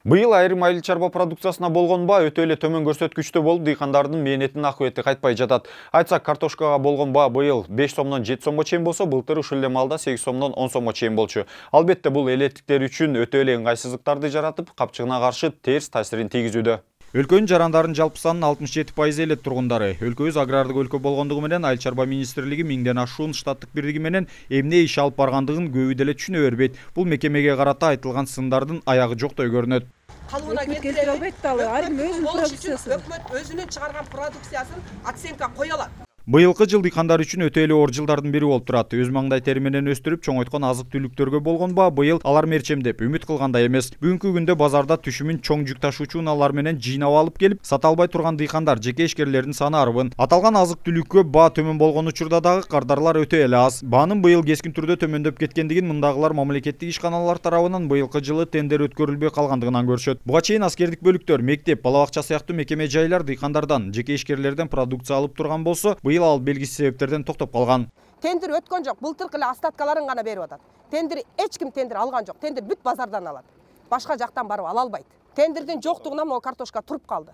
Быйыл айрым айыл чарба продукциясына болгон баа өтө эле төмөн көрсөткүчтө болуп, дыйкандардын мээнетинин акыбети кайтпай жатат. Айтсак, картошкага болгон баа быйыл 5 сомдон 7 сомго чейин болсо, былтыр ушул эле маалда 8 сомдон 10 сомго чейин болчу. Албетте, бул элеттиктер үчүн өтө эле ыңгайсыздыктарды жаратып, капчыгына каршы терс таасирин тийгизүүдө. Өлкөнүн жарандарын жалпы санынын 67% элет тургундары. Өлкөбүз агрардык өлкө болгондугу менен Айыл чарба министрлиги 1000ден ашуун штаттык бирдиги менен эмне иш алып баргандыгын көбү деле түшүнө бербейт. Бул мекемеге карата айтылган сындардын аягы жоктой көрүнөт. Калыбына келтире албайт да, айрым өзүнүн продукциясы. Өкмөт өзүнүн чыгарган продукциясын оценка кое алат. Быйылкы жыл дыйкандар үчүн өтө эле оор жылдардын бири болуп турат. Өз маңдай тери менен өстүрүп чоңойткон азык түлүктөргө болгон баа быйыл алар мерчемдеп үмүт кылгандай эмес. Бүгүнкү күндө базарда түшүмүн чоң жүк ташуучу унаалар менен жыйнап алып келип, сата албай турган дыйкандар, жеке ишкерлердин саны арбын. Аталган азык түлүккө баа төмөн болгон учурда дагы кардарлар өтө эле аз. Баанын быйыл кескин түрдө төмөндөп кеткендигин мындагылар мамлекеттик ишканалар тарабынан быйылкы жылы тендер өткөрүлбөй калгандыгынан көрүшөт. Буга чейин аскердик бөлүктөр, мектеп, бала бакча сыяктуу мекеме жайлар дыйкандардан, жеке ишкерлерден продукция алып турган болсо, быйыл ал белгисиз токтоп калган. Тендер өткөн жок, былтыркы эле остаткаларын гана берип атат. Тендер эч ким тендер алган жок. Тендер бүт базардан алат. Башка жактан барып ала албайт. Тендердин жоктугунан могу картошка туруп калды.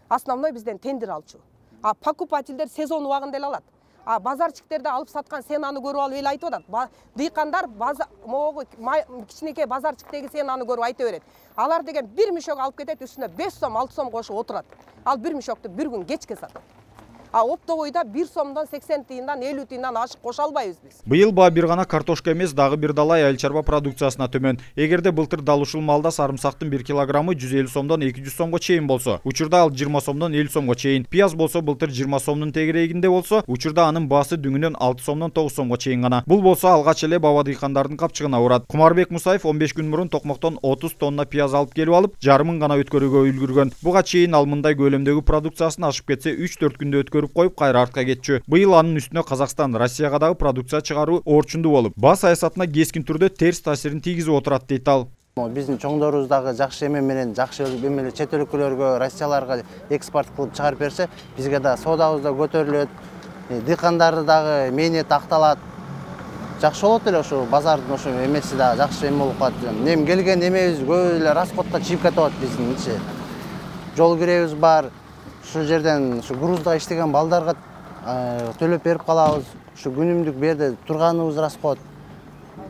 Основной бизден тендер алчу. А покупательдер сезон убагында эле алат. А базарчиктерде алып саткан сенаны көрүп алып эл айтып атат. Дыйкандар могу кичинекей базарчиктеги сенаны көрүп айта берет. Алар деген бир мешок алып кетет, үстүнө 5 сом, 6 сом кошуп отурат. Ал бир мешокты бир күн кечке сатат. А оптовойда 1 сомдон 80 тыйындан 50 тыйындан ашык коша албайбыз биз. Быйыл баа бир гана картошка эмес, дагы бир далай айыл чарба продукциясына төмөн. Эгерде былтыр дал ушул маалда сарымсактын 1 килограммы 150 сомдон 200 сомго чейин болсо, учурда ал 20 сомдон 50 сомго чейин. Пияз болсо былтыр 20 сомдун тегерегинде болсо, учурда анын баасы дүңүнөн 6 сомдон 9 сомго чейин гана. Бул болсо алгач эле баба дыйкандардын капчыгына урат. Кумарбек Мусаев 15 күн мурун Токмоктон 30 тонна пияз алып келип алып, жарымын гана өткөрүүгө үлгүргөн. Буга чейин ал мындай көлөмдөгү продукциясын ашып кетсе 3-4 күндө өткөрүп коюп кайра кетчү. Быйыл анын үстүнө Казакстан, Россияга дагы продукция чыгаруу орчундуу болуп, баа саясатына кескин түрдө терс таасирин тийгизип отурат дейт ал. Биздин чоңдорубуз дагы жакшы эме менен жакшы эмеле чет өлкөлөргө, Россияларга экспорт кылып чыгарып берсе, бизге да соодабыз да көтөрүлөт. Дыйкандарды дагы мээнети акталат. Жакшы болот эле ошо базардын ошо эмеси да жакшы эме болуп калат. Эми келген эмебиз көп эле расходко чыгып кетип атат биздинчи. Жол киребиз бар. Ушул жерден ушу грузда иштеген балдарга төлөп берип калабыз. Ушу күнүмдүк берде турганыбыз расход.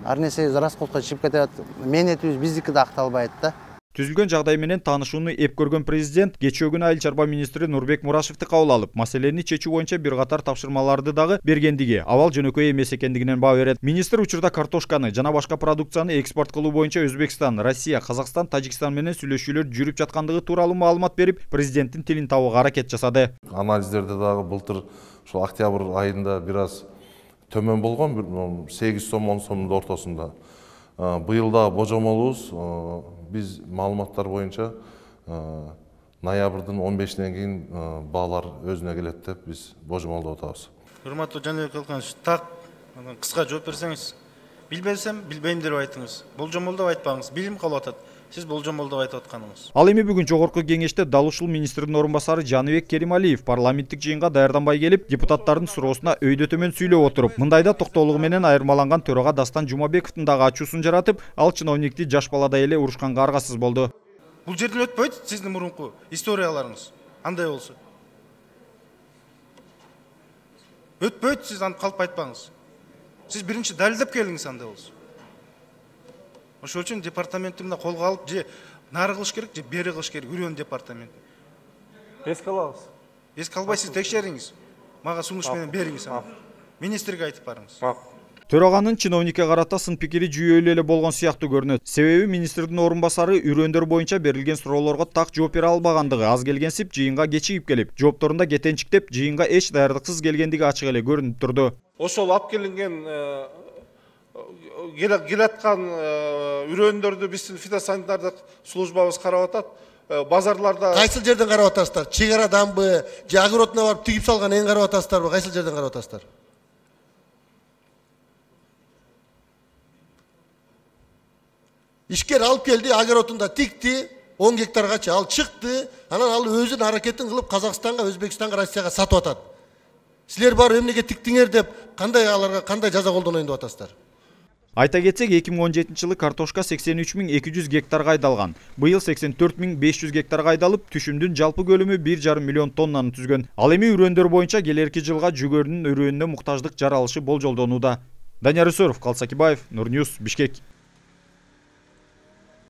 Ар нерсебиз расходко чыгып кетет. Мээнетибиз биздики да акталбайт да. Түзүлгөн жагдай менен таанышууну эп көргөн президент кечээ күнү айыл чарба министри Нурбек Мурашевди кабыл алып, маселени чечүү боюнча бир катар тапшырмаларды дагы бергендиги, абал жөнөкөй эмес экендигинен баа берет. Министр учурда картошканы жана башка продукцияны экспорт кылуу боюнча Өзбекстан, Россия, Казакстан, Тажикстан менен сүйлөшүүлөр жүрүп жаткандыгы тууралуу маалымат берип, президенттин тилин табууга аракет жасады. Анализдерде дагы былтыр ушул октябрь айында бир аз төмөн болгон, 8 сом 10 сомдун ортосунда. Быйыл дагы божомолубуз биз маалыматтар боюнча ноябрдын 15-нен кийин баалар өзүнө келет деп биз божомолдоп атабыз. Урматтуу Жаныбек Алканович, так кыска жооп берсеңиз. Билбесем, билбейм деп айтыңыз. Болжомолдоп айтпаңыз. Билим калып атат. Сиз болжомолдоп айтып атканыңыз. Ал эми бүгүн жогорку кеңеште дал ушул министрдин орун басары Жаныбек Керималиев парламенттик жыйынга даярданбай келип, депутаттардын суроосуна өйдө төмөн сүйлөп отуруп, мындайда токтоолугу менен айырмаланган төрага Дастан Жумабековдун дагы ачуусун жаратып, ал чиновникти жаш баладай эле урушканга аргасыз болду. Бул жерден өтпөйт сиздин мурунку историяларыңыз. Андай болсо. Өтпөйт, сиз аны калп айтпаңыз. Сиз биринчи далилдеп келиңиз андай болсо. Ошол үчүн департаментимде колго алып, же нары кылыш керек, же бери кылыш керек, үрөн департамент. Эске алабыз. Эске албай сиз текшериңиз. Мага сунуш менен бериңиз аны. Министрге айтып барыңыз. Төраганын чиновникке карата сын пикири жүйөлүү эле болгон сыяктуу көрүнөт. Себеби министрдин орун басары үрөндөр боюнча берилген суроолорго так жооп бере албагандыгы аз келгенсип жыйынга кечигип келип, жоопторунда кетенчиктеп жыйынга эч даярдыксыз келгендиги ачык эле көрүнүп турду. Ошол алып келинген келаткан үрөндөрдү биздин фитосанитардык службабыз карап атат. Базарларда кайсыл жерден карап атасыздар? Чегараданбы, же огородуна барып тигип салган эң карап атасыздарбы? Кайсыл жерден карап атасыздар? Ишкер алып келди, огородунда тикти, 10 гектаргача ал чыкты, анан ал өзүнүн аракетин кылып Казакстанга, Өзбекстанга, Россияга сатып атат. Силер барып эмнеге тиктиңер деп кандай аларга кандай жаза колдонойн деп атасыздар? Айта кетсек, 2017 жылы картошка 83.200 гектарга айдалган. Быйыл 84.500 гектарга айдалып, түшүмдүн жалпы көлөмү 1,5 миллион тоннаны түзгөн. Ал эми үрөөндөр боюнча келерки жылга жүгөрүнүн өрөөнүнө муктаждык жаралышы болжолдонууда. Данияр Үсөров, Калсакибаев, Нур Ньюс, Бишкек.